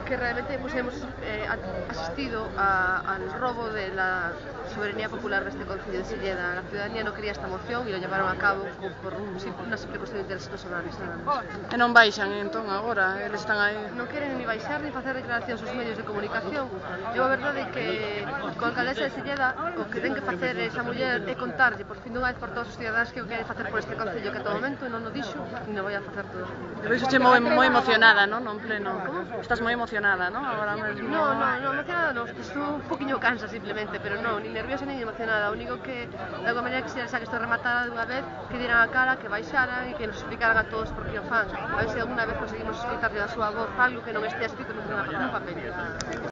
que realmente pues, hemos asistido al robo de la soberanía popular de este Concello de Silleda. La ciudadanía no quería esta moción y lo llevaron a cabo por una simple cuestión de intereses personales. E non baixan entón agora, eles están aí. Non queren ni baixar ni facer declaracións aos medios de comunicación. E a verdade é que con a alcaldesa de Silleda o que ten que facer esa muller é contarlle por fin dunha vez por todos os cidadáns que o quere facer por este Concello que a todo momento non o dixo e non vai a facer todo. Te veixoche moi emocionada, non? Non pleno. Estás moi emocionada, non? Agora mesmo. No, emocionada non, estou un poquinho cansa simplemente, pero non, ni nerviosa ni emocionada. O único que, de alguma maneira, quixera xa que estou rematada dunha vez, que dieran a cara, que baixaran e que nos explicaran a todos por que o fan. A ver se alguna vez conseguimos escoitarlle da súa voz algo que non estea escrito nun papel.